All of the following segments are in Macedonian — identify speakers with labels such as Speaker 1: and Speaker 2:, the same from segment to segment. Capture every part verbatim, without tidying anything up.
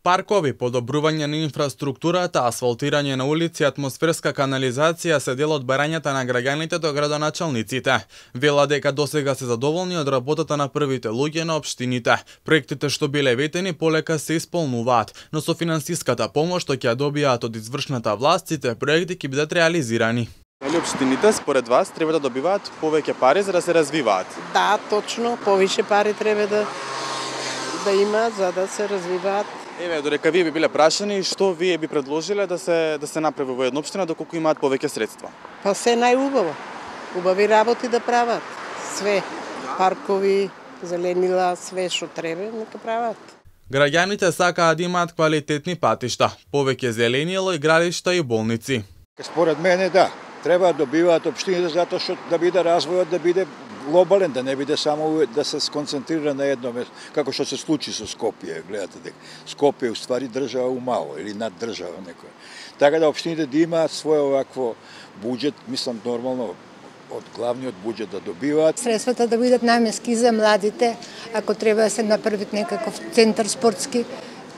Speaker 1: Паркови, подобрување на инфраструктурата, асфалтирање на улици, атмосферска канализација се дел од барањата на граѓаните до градоначалниците. Вела дека досега се задоволни од работата на првите луѓе на општините. Проектите што биле ветени полека се исполнуваат, но со финансиската помош што ќе ја добијаат од извршната власт, сите проекти ќе бидат реализирани.
Speaker 2: Дали општините според вас треба да добиваат повеќе пари за да се развиваат?
Speaker 3: Да, точно, повише пари треба да да има за да се развиваат.
Speaker 2: Еве, додека вие би биле прашани, што вие би предложиле да се да се направи во една општина доколку имаат повеќе средства?
Speaker 3: Па се најубаво. Убави работи да прават. Све, паркови, зеленила, све што треба, нека прават.
Speaker 1: Граѓаните сакаат да имаат квалитетни патишта, повеќе зеленило и градишта и болници.
Speaker 4: Според мене да, треба да добиваат општините затоа што да биде развојот, да биде глобален, да не биде само да се сконцентрира на едно место, како што се случи со Скопје, гледате дека Скопје е уствари држава умало или над држава некоја. Така да општините да имаат свој овакво буџет, мислам нормално од главниот буџет да добиваат.
Speaker 5: Средствата да бидат наменски за младите, ако треба да се направи некаков центар спортски,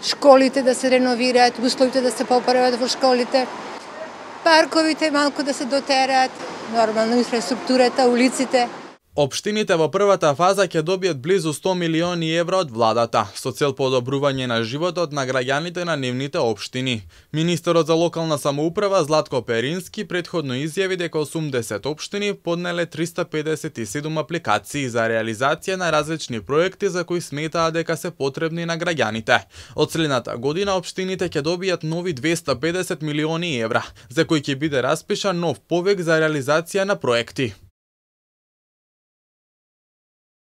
Speaker 5: школите да се реновираат, условите да се поправат во школите, парковите малку да се дотераат, нормално инфраструктурата, улиците.
Speaker 1: Општините во првата фаза ќе добијат близу сто милиони евра од владата, со цел подобрување на животот на граѓаните на нивните општини. Министерот за локална самоуправа Златко Перински претходно изјави дека осумдесет општини поднеле триста педесет и седум апликации за реализација на различни проекти за кои сметаат дека се потребни на граѓаните. Од следната година општините ќе добијат нови двеста педесет милиони евра, за кои ќе биде распишан нов повик за реализација на проекти.